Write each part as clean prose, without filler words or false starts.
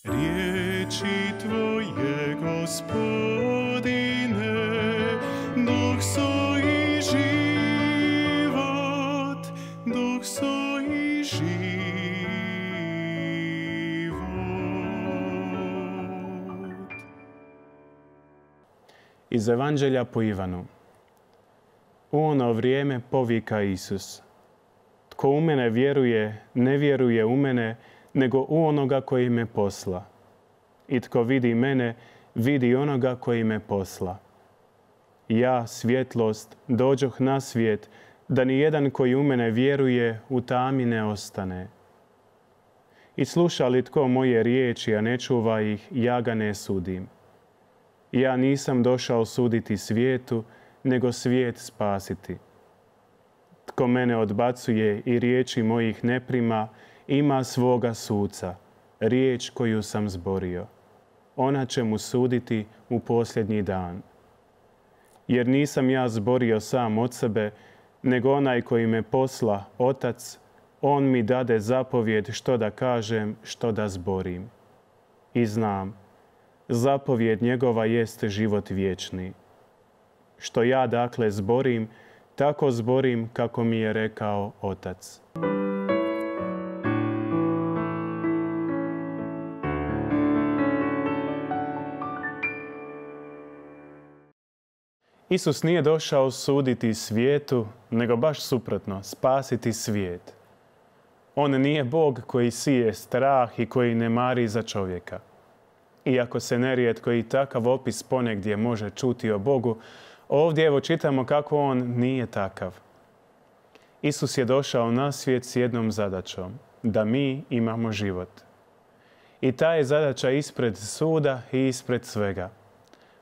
Riječi Tvoje, Gospodine, duh su i život, duh su i život. Iz Evanđelja po Ivanu. U ono vrijeme povika Isus: Tko u mene vjeruje, ne vjeruje u mene, nego u onoga koji me posla. I tko vidi mene, vidi onoga koji me posla. Ja, svjetlost, dođoh na svijet, da ni jedan koji u mene vjeruje u tami ne ostane. I sluša li tko moje riječi, a ne čuva ih, ja ga ne sudim. Ja nisam došao suditi svijetu, nego svijet spasiti. Tko mene odbacuje i riječi mojih ne prima, ima svoga suca, riječ koju sam zborio. Ona će mu suditi u posljednji dan. Jer nisam ja zborio sam od sebe, nego onaj koji me posla, Otac, on mi dade zapovjed što da kažem, što da zborim. I znam, zapovjed njegova jeste život vječni. Što ja dakle zborim, tako zborim kako mi je rekao Otac. Isus nije došao suditi svijetu, nego baš suprotno, spasiti svijet. On nije Bog koji sije strah i koji ne mari za čovjeka. Iako se nerijetko i takav opis ponegdje može čuti o Bogu, ovdje evo čitamo kako on nije takav. Isus je došao na svijet s jednom zadaćom, da mi imamo život. I ta je zadaća ispred suda i ispred svega.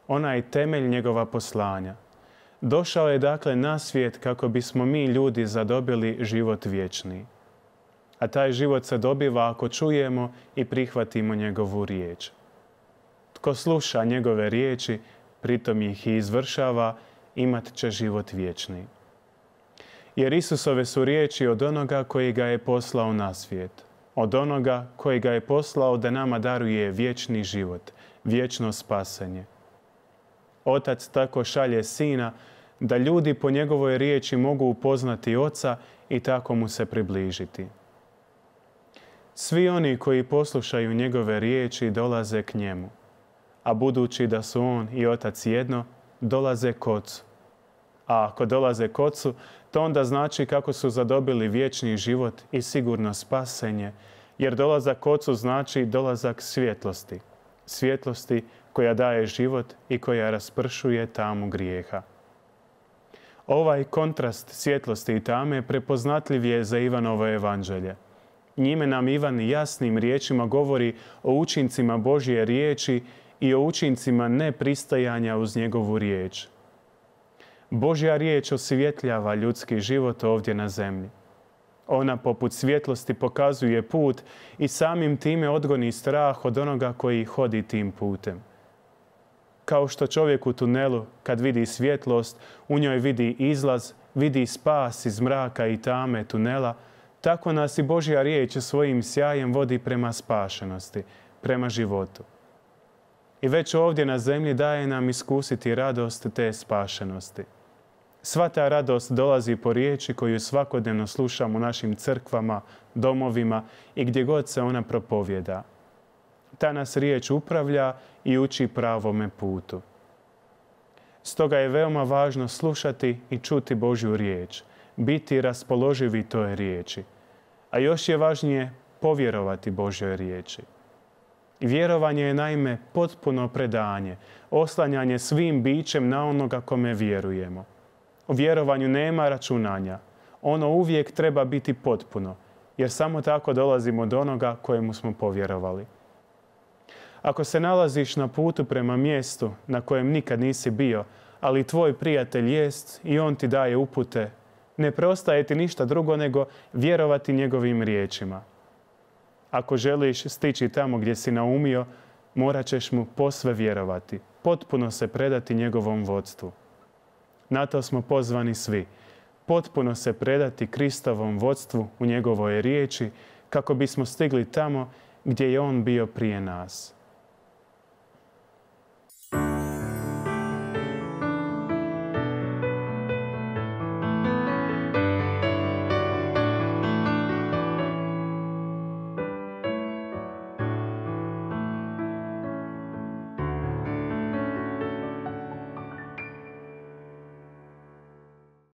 Ona je temelj njegova poslanja. Došao je dakle na svijet kako bismo mi ljudi zadobili život vječni. A taj život se dobiva ako čujemo i prihvatimo njegovu riječ. Tko sluša njegove riječi, pritom ih i izvršava, imat će život vječni. Jer Isusove su riječi od onoga koji ga je poslao na svijet. Od onoga koji ga je poslao da nama daruje vječni život, vječno spasenje. Otac tako šalje Sina da ljudi po njegovoj riječi mogu upoznati Oca i tako mu se približiti. Svi oni koji poslušaju njegove riječi dolaze k njemu, a budući da su on i Otac jedno, dolaze k Ocu. A ako dolaze k Ocu, to onda znači kako su zadobili vječni život i sigurno spasenje, jer dolazak k Ocu znači dolazak svjetlosti. Svjetlosti koja daje život i koja raspršuje tamu grijeha. Ovaj kontrast svjetlosti i tame prepoznatljiv je za Ivanovo evanđelje. Njime nam Ivan jasnim riječima govori o učincima Božje riječi i o učincima nepristajanja uz njegovu riječ. Božja riječ osvjetljava ljudski život ovdje na zemlji. Ona poput svjetlosti pokazuje put i samim time odgoni strah od onoga koji hodi tim putem. Kao što čovjek u tunelu, kad vidi svjetlost, u njoj vidi izlaz, vidi spas iz mraka i tame tunela, tako nas i Božja riječ svojim sjajem vodi prema spašenosti, prema životu. I već ovdje na zemlji daje nam iskusiti radost te spašenosti. Sva ta radost dolazi po riječi koju svakodnevno slušamo u našim crkvama, domovima i gdje god se ona propovjeda. Ta nas riječ upravlja i uči pravome putu. Stoga je veoma važno slušati i čuti Božju riječ, biti raspoloživi toj riječi. A još je važnije povjerovati Božjoj riječi. Vjerovanje je naime potpuno predanje, oslanjanje svim bićem na onoga kome vjerujemo. U vjerovanju nema računanja. Ono uvijek treba biti potpuno, jer samo tako dolazimo do onoga kojemu smo povjerovali. Ako se nalaziš na putu prema mjestu na kojem nikad nisi bio, ali tvoj prijatelj jest i on ti daje upute, ne preostaje ti ništa drugo nego vjerovati njegovim riječima. Ako želiš stići tamo gdje si naumio, morat ćeš mu posve vjerovati, potpuno se predati njegovom vodstvu. Na to smo pozvani svi, potpuno se predati Kristovom vodstvu u njegovoj riječi, kako bismo stigli tamo gdje je on bio prije nas.